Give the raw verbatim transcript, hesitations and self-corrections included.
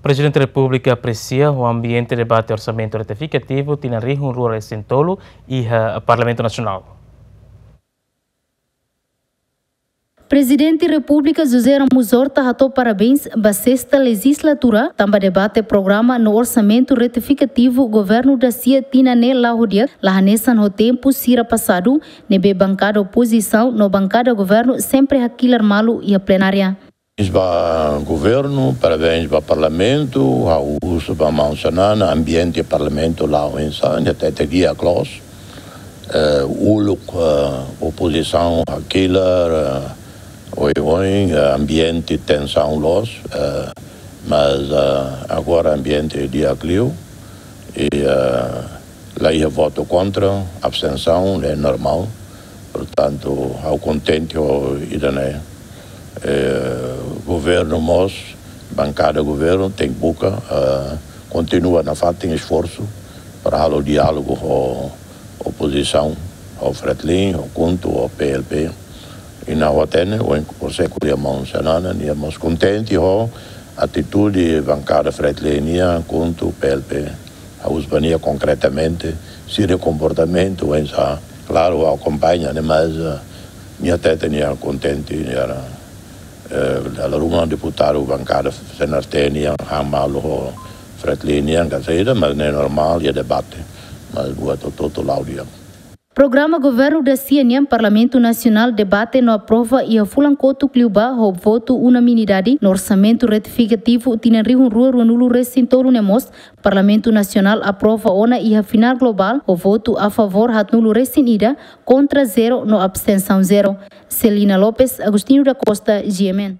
Prezidente Repúblika apresia ho ambiente debate orsamentu retifikativu tinan rihun rua resin tolu iha Parlamentu Nasionál. Prezidente Repúblika José Ramos Horta hato'o parabéns ba sesta lejizlatura tanba debate programa no orsamentu retifikativu governu dasia tinan ne'e la'o di'ak, la hanesan ho tempu sira pasadu, ne'ebé bankada opozisaun no bankada governu sempre hakilar malu iha plenária. Parabéns ba governu, parabéns ba parlamentu, ha'u husu ba maun Xanana, ambiente parlamentu la'o oinsá, nia hatete di'ak loos, eh, uluk, eh, opozisaun hakilar, eh, oioin, eh, ambiente tensaun loos, eh, mas, eh, agora ambiente di'ak liu, i, eh, la iha votu kontra, abstensaun, é normál. Portantu, ha'u kontente ho ida-ne'e. Eh, governu mós, bankada governu tenke buka, eh, kontinua nafatin esforsu para halo diálogu ho opozisaun, ho Fretilin, ho KHUNTO, ho P L P. I na ha'u hatene, ohin konversa ho maun Xanana, nia mós kontente ho atitude bankada Fretilin nian, KHUNTO, P L P. Ha'u husu ba nia konkretamente, sira komportamentu oinsá. Klaru, ha'u akompaña, ne'e, mas, eh, nia hatete nia kontente, nia, eh, dala ruma deputadu bankada C N R T nian han malu ho Fretilin nian, ka saida, mas ne'e normál, iha debate. Mas buat hotu-hotu la'o di'ak. Programa governu dasia nian Parlamentu Nasionál debate no aprova iha fulan kotuk liubá ho votu unanimidade, no orsamentu retifikativu tinan rihun rua rua-nulu resin tolu ne'e mós Parlamentu Nasionál aprova ona iha final globál ho votu a favór haatnulu resin ida, kontra zero no abstensaun zero. Celina Lopes, Agostinho da Costa, G M N.